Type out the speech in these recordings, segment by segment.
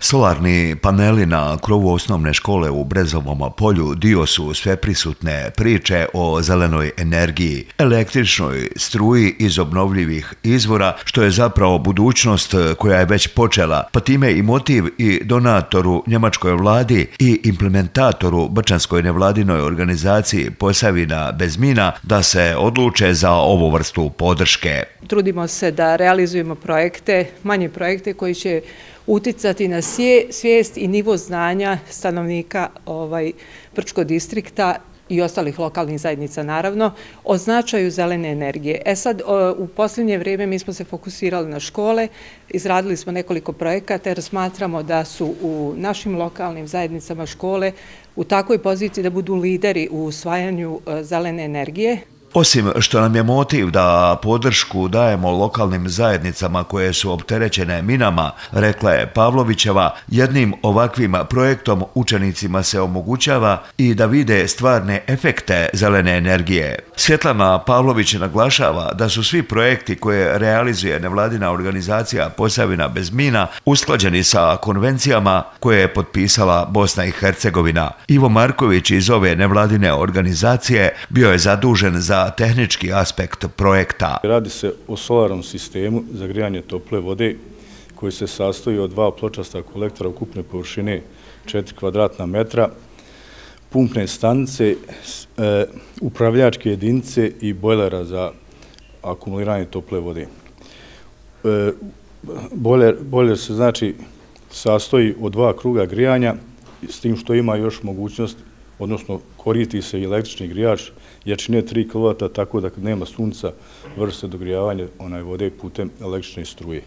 Solarni paneli na krovu osnovne škole u Brezovom polju dio su sveprisutne priče o zelenoj energiji, električnoj struji iz obnovljivih izvora, što je zapravo budućnost koja je već počela, pa time i motiv i donatoru njemačkoj vladi i implementatoru brčanskoj nevladinoj organizaciji Posavina bez mina da se odluče za ovu vrstu podrške. Trudimo se da realizujemo projekte, manje projekte koji će uticati na svijest i nivo znanja stanovnika Brčkog distrikta i ostalih lokalnih zajednica, naravno, o značaju zelene energije. Sad, u posljednje vrijeme mi smo se fokusirali na škole, izradili smo nekoliko projekata jer smatramo da su u našim lokalnim zajednicama škole u takvoj poziciji da budu lideri u usvajanju zelene energije. Osim što nam je motiv da podršku dajemo lokalnim zajednicama koje su opterećene minama, rekla je Pavlovićeva, jednim ovakvim projektom učenicima se omogućava i da vide stvarne efekte zelene energije. Svjetlana Pavlović naglašava da su svi projekti koje realizuje nevladina organizacija Posavina bez mina usklađeni sa konvencijama koje je potpisala Bosna i Hercegovina. Ivo Marković iz ove nevladine organizacije bio je zadužen za tehnički aspekt projekta. Radi se o solarnom sistemu za grijanje tople vode koji se sastoji od dva pločasta kolektora ukupne površine 4 kvadratna metra, pumpne stanice, upravljačke jedinice i bojlera za akumuliranje tople vode. Bojler se znači sastoji od dva kruga grijanja s tim što ima još mogućnost, odnosno koristi se i električni grijač jačine 3 kW, tako da kad nema sunca vrši se dogrijavanje vode putem električne struje.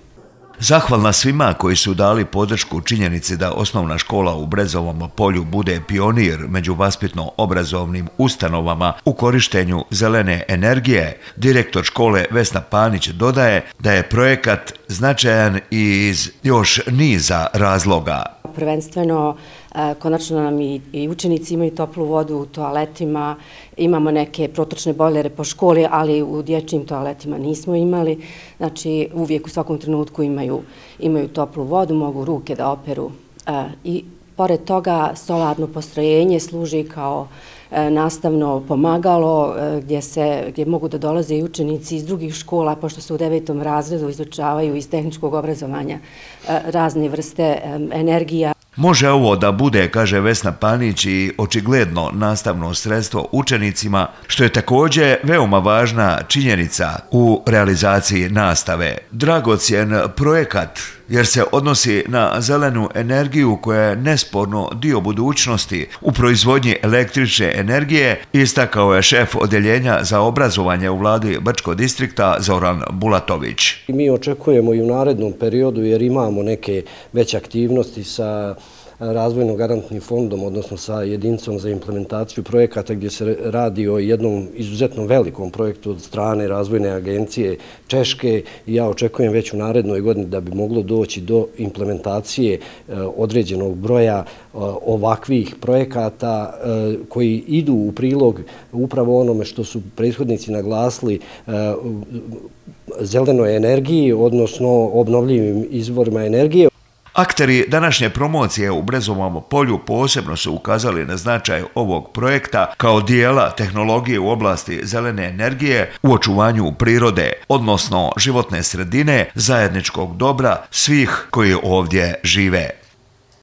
Zahvalna svima koji su dali podršku činjenici da osnovna škola u Brezovom polju bude pionir među vaspitno-obrazovnim ustanovama u korištenju zelene energije, direktor škole Vesna Panić dodaje da je projekat značajan iz još niza razloga. Prvenstveno, konačno nam i učenici imaju toplu vodu u toaletima, imamo neke protočne bojlere po školi, ali u dječjim toaletima nismo imali. Znači, uvijek u svakom trenutku imaju toplu vodu, mogu ruke da operu. I pored toga, solarno postrojenje služi kao nastavno pomagalo gdje mogu da dolaze i učenici iz drugih škola, pošto su u 9. razredu izučavaju iz tehničkog obrazovanja razne vrste energija. Može ovo da bude, kaže Vesna Panić, i očigledno nastavno sredstvo učenicima, što je također veoma važna činjenica u realizaciji nastave. Dragocjen projekat jer se odnosi na zelenu energiju koja je nesporno dio budućnosti u proizvodnji električne energije, istakao je šef odjeljenja za obrazovanje u vladi Brčkog distrikta Zoran Bulatović. Mi očekujemo i u narednom periodu jer imamo neke veće aktivnosti sa razvojno-garantnim fondom, odnosno sa jedinicom za implementaciju projekata gdje se radi o jednom izuzetno velikom projektu od strane razvojne agencije Češke i ja očekujem već u narednoj godini da bi moglo doći do implementacije određenog broja ovakvih projekata koji idu u prilog upravo onome što su prethodnici naglasili zelenoj energiji, odnosno obnovljivim izvorima energije. Akteri današnje promocije u Brezovom polju posebno su ukazali na značaj ovog projekta kao dijela tehnologije u oblasti zelene energije u očuvanju prirode, odnosno životne sredine, zajedničkog dobra svih koji ovdje žive.